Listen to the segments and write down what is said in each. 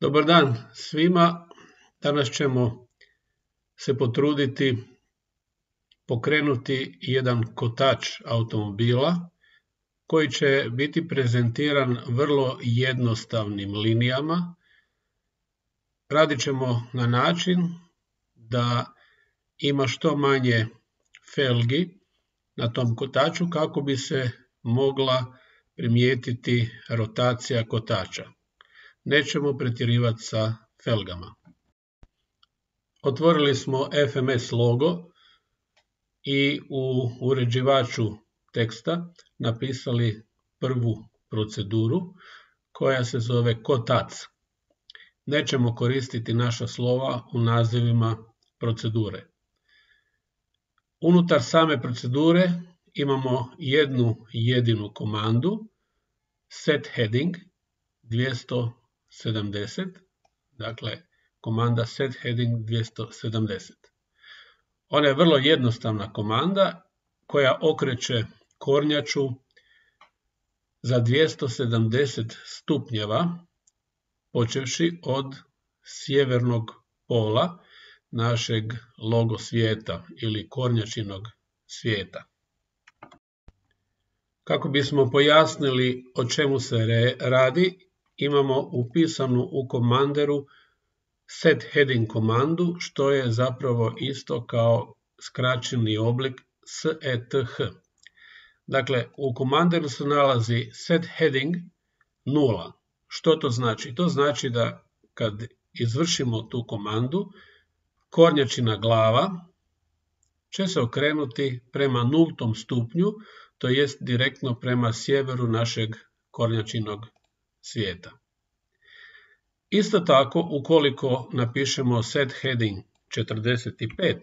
Dobar dan svima. Danas ćemo se potruditi pokrenuti jedan kotač automobila koji će biti prezentiran vrlo jednostavnim linijama. Radit ćemo na način da ima što manje felgi na tom kotaču kako bi se mogla primijetiti rotacija kotača. Nećemo pretjerivati sa felgama. Otvorili smo FMS logo i u uređivaču teksta napisali prvu proceduru koja se zove kotac. Nećemo koristiti naša slova u nazivima procedure. Unutar same procedure imamo jednu jedinu komandu set heading 270, dakle komanda set heading 270. Ona je vrlo jednostavna komanda koja okreće kornjaču za 270 stupnjeva počevši od sjevernog pola našeg logo svijeta ili kornjačinog svijeta. Kako bismo pojasnili o čemu se radi, imamo upisanu u komanderu set heading komandu, što je zapravo isto kao skraćeni oblik SETH. Dakle, u komanderu se nalazi set heading 0. Što to znači? To znači da kad izvršimo tu komandu, kornjačina glava će se okrenuti prema 0. stupnju, to jest direktno prema sjeveru našeg kornjačinog svijeta. Isto tako, ukoliko napišemo set heading 45,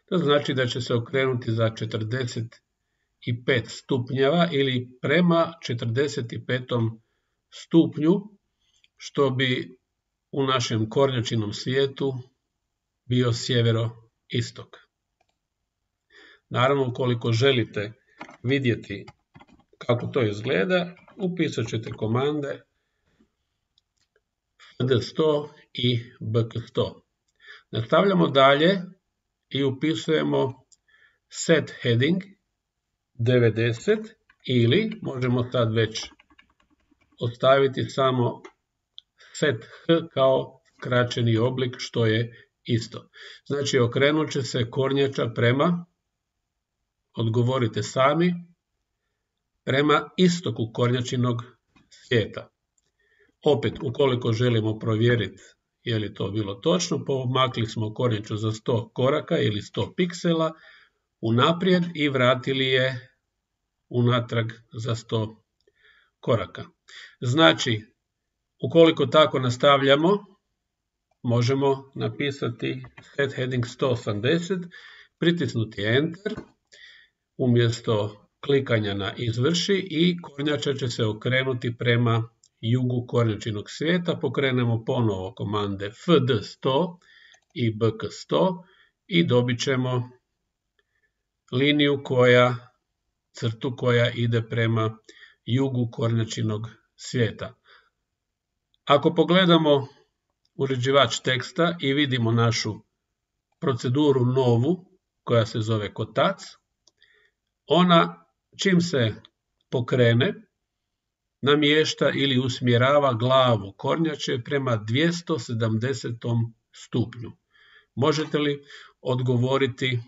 to znači da će se okrenuti za 45 stupnjeva ili prema 45. stupnju, što bi u našem kornjačinom svijetu bio sjeveroistok. Naravno, ukoliko želite vidjeti kako to izgleda, upisat ćete komande fd100 i bk100. Nastavljamo dalje i upisujemo set heading 90 ili možemo sad već ostaviti samo set h kao skraćeni oblik, što je isto. Znači okrenut će se kornjača prema, odgovorite sami, prema istoku kornjačinog svijeta. Opet, ukoliko želimo provjeriti je li to bilo točno, pomakli smo kornjaču za 100 koraka ili 100 piksela unaprijed i vratili je unatrag za 100 koraka. Znači, ukoliko tako nastavljamo, možemo napisati set heading 180, pritisnuti Enter, umjesto klikanja na izvrši i kornjača će se okrenuti prema jugu kornjačinog svijeta. Pokrenemo ponovo komande fd100 i bk100 i dobit ćemo liniju crtu koja ide prema jugu kornjačinog svijeta. Ako pogledamo uređivač teksta i vidimo našu proceduru novu koja se zove kotac, ona čim se pokrene namješta ili usmjerava glavu kornjače prema 270. stupnju. Možete li odgovoriti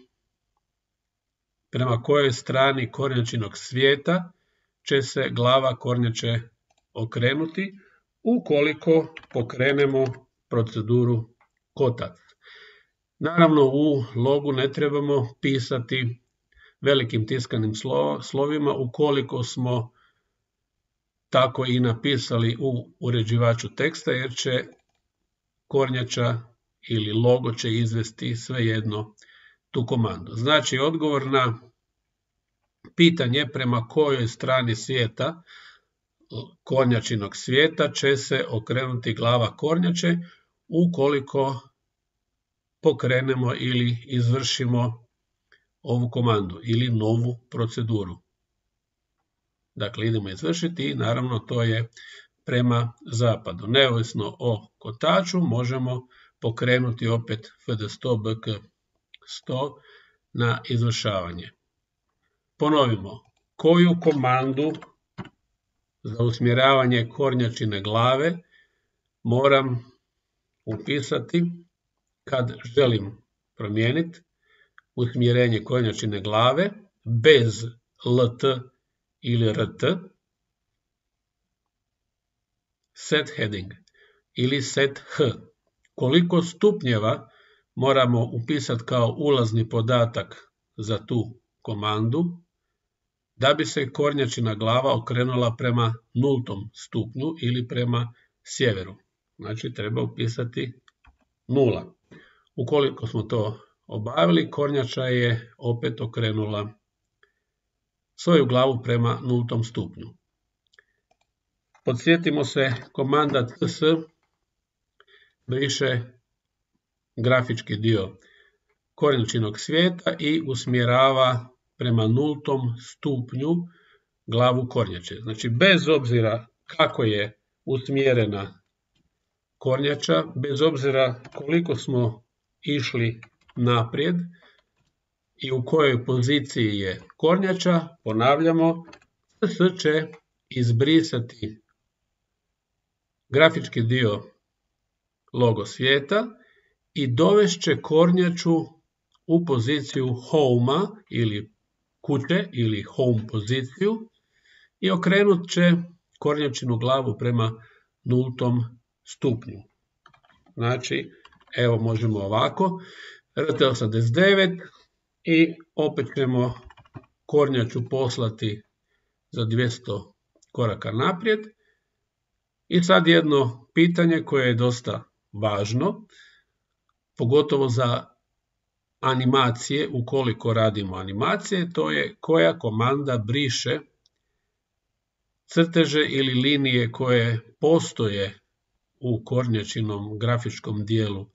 prema kojoj strani kornjačinog svijeta će se glava kornjače okrenuti ukoliko pokrenemo proceduru kotac? Naravno, u logu ne trebamo pisati velikim tiskanim slovima ukoliko smo tako i napisali u uređivaču teksta, jer će kornjača ili logo će izvesti svejedno tu komandu. Znači, odgovor na pitanje prema kojoj strani svijeta, kornjačinog svijeta, će se okrenuti glava kornjače ukoliko pokrenemo ili izvršimo ovu komandu ili novu proceduru. Dakle, idemo izvršiti i naravno to je prema zapadu. Neovisno o kotaču možemo pokrenuti opet FD100 BK100 na izvršavanje. Ponovimo, koju komandu za usmjeravanje kornjačine glave moram upisati kad želim promijeniti usmjerenje kornjačine glave bez LT ili RT, set heading ili set H. Koliko stupnjeva moramo upisati kao ulazni podatak za tu komandu da bi se kornjačina glava okrenula prema 0. stupnju ili prema sjeveru. Znači treba upisati 0. Ukoliko smo to obavili, kornjača je opet okrenula svoju glavu prema 0. stupnju. Podsjetimo se, komanda cs briše grafički dio kornjačinog svijeta i usmjerava prema 0. stupnju glavu kornjače. Znači, bez obzira kako je usmjerena kornjača, bez obzira koliko smo išli naprijed i u kojoj poziciji je kornjača, ponavljamo, cs će izbrisati grafički dio logo svijeta i dovest će kornjaču u poziciju home ili kuće ili home poziciju i okrenut će kornjačinu glavu prema 0. stupnju. Znači, evo možemo ovako, RT89 i opet ćemo kornjaču poslati za 200 koraka naprijed. I sad jedno pitanje koje je dosta važno, pogotovo za animacije, ukoliko radimo animacije, to je koja komanda briše crteže ili linije koje postoje u kornjačinom grafičkom dijelu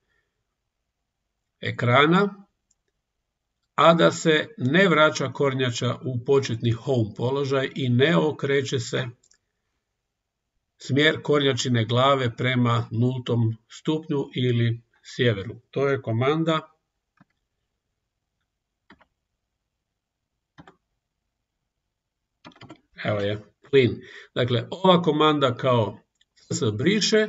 ekrana, a da se ne vraća kornjača u početni home položaj i ne okreće se smjer kornjačine glave prema 0. stupnju ili sjeveru. To je komanda evo je clean. Dakle, ova komanda kao se briše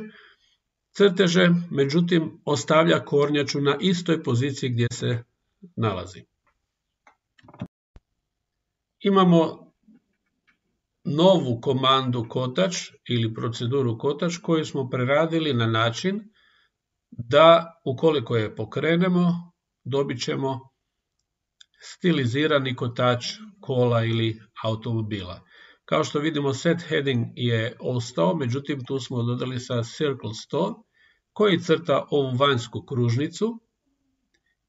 crteže, međutim ostavlja kornjaču na istoj poziciji gdje se nalazi. Imamo novu komandu kotač ili proceduru kotač koju smo preradili na način da ukoliko je pokrenemo dobit ćemo stilizirani kotač kola ili automobila. Kao što vidimo, set heading je ostao, međutim tu smo dodali sa circle 100 koji crta ovu vanjsku kružnicu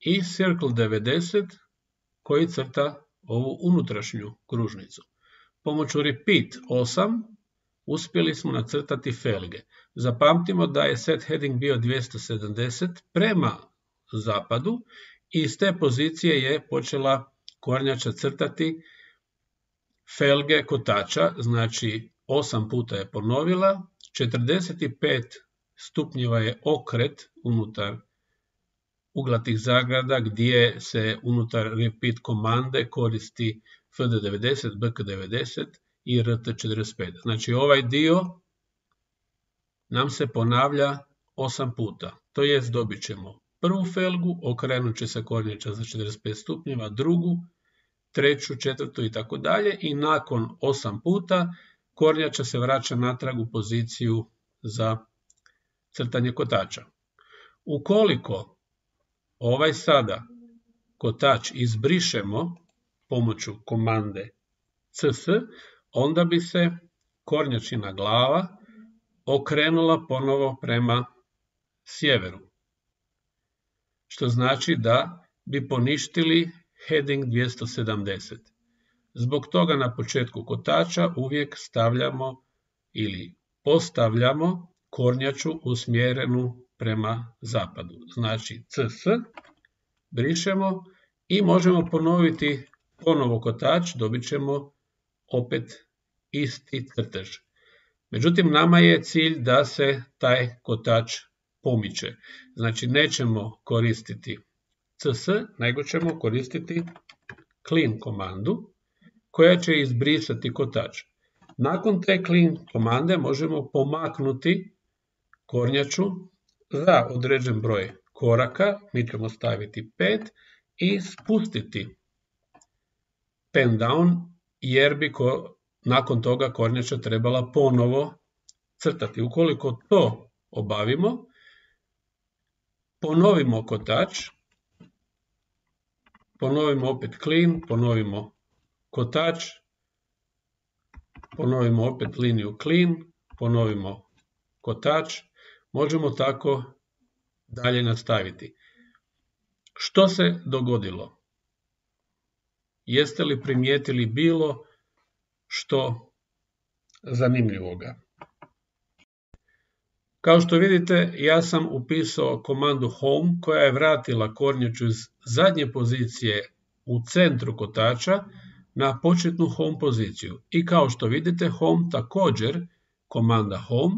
i circle 90 koji crta ovu unutrašnju kružnicu. Pomoću repeat 8 uspjeli smo nacrtati felge. Zapamtimo da je set heading bio 270 prema zapadu i iz te pozicije je počela kornjača crtati felge kotača, znači 8 puta je ponovila, 45 stupnjeva je okret unutar uglatih zagrada gdje se unutar repeat komande koristi FD90, BK90 i RT45. Znači ovaj dio nam se ponavlja 8 puta. To jest dobit ćemo prvu felgu, okrenut će se kornjača za 45 stupnjeva, drugu, treću, četvrtu i tako dalje i nakon 8 puta kornjača se vraća natrag u poziciju za crtanje kotača. Ukoliko ovaj sada kotač izbrišemo pomoću komande cs, onda bi se kornjačina glava okrenula ponovo prema sjeveru. Što znači da bi poništili heading 270. Zbog toga na početku kotača uvijek stavljamo ili postavljamo kornjaču usmjerenu prema zapadu. Znači cs, brišemo i možemo ponoviti ponovo kotač, dobit ćemo opet isti crtež. Međutim, nama je cilj da se taj kotač pomiče. Znači, nećemo koristiti cs, nego ćemo koristiti clean komandu koja će izbrisati kotač. Nakon te clean komande možemo pomaknuti kornjaču za određen broj koraka, mi ćemo staviti 5 i spustiti pen down, jer bi nakon toga kornjača trebala ponovo crtati. Ukoliko to obavimo, ponovimo kotač, ponovimo opet clean, ponovimo kotač, ponovimo opet liniju clean, ponovimo kotač, možemo tako dalje nastaviti. Što se dogodilo? Jeste li primijetili bilo što zanimljivoga? Kao što vidite, ja sam upisao komandu home koja je vratila kornjaču iz zadnje pozicije u centru kotača na početnu home poziciju. I kao što vidite, home također, komanda home,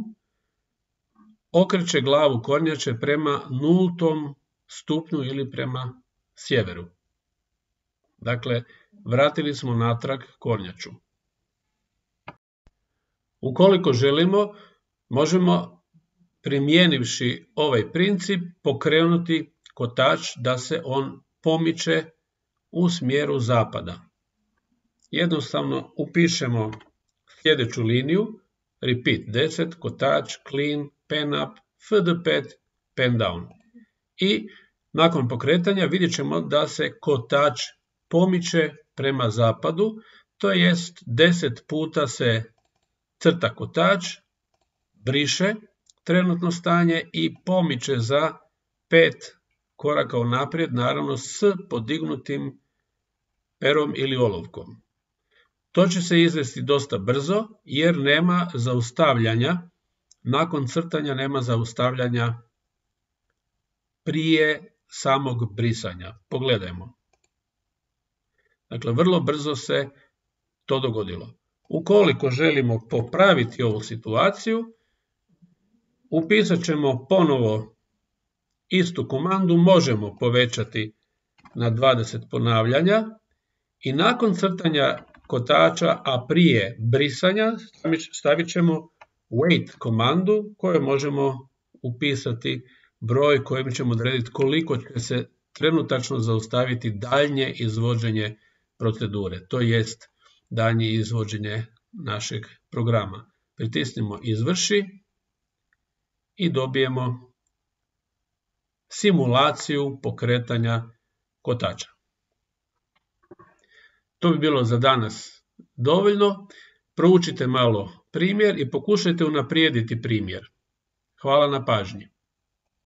okreće glavu kornjače prema 0. stupnju ili prema sjeveru. Dakle, vratili smo natrag kornjaču. Ukoliko želimo, možemo, primijenivši ovaj princip, pokrenuti kotač da se on pomiče u smjeru zapada. Jednostavno upišemo sljedeću liniju, repeat 10, kotač, clean, pen up, fd5, pen down. I nakon pokretanja vidjet ćemo da se kotač pomiče prema zapadu, to jest 10 puta se crta kotač, briše trenutno stanje i pomiče za 5 koraka unaprijed, naravno s podignutim perom ili olovkom. To će se izvesti dosta brzo jer nema zaustavljanja, nakon crtanja nema zaustavljanja prije samog brisanja. Pogledajmo. Dakle, vrlo brzo se to dogodilo. Ukoliko želimo popraviti ovu situaciju, upisat ćemo ponovo istu komandu, možemo povećati na 20 ponavljanja i nakon crtanja kotača, a prije brisanja, stavit ćemo wait komandu koju možemo upisati broj kojim ćemo odrediti koliko će se trenutačno zaustaviti daljnje izvođenje procedure, to jest daljnje izvođenje našeg programa. Pritisnimo izvrši i dobijemo simulaciju pokretanja kotača. To bi bilo za danas dovoljno. Proučite malo primjer i pokušajte unaprijediti primjer. Hvala na pažnji.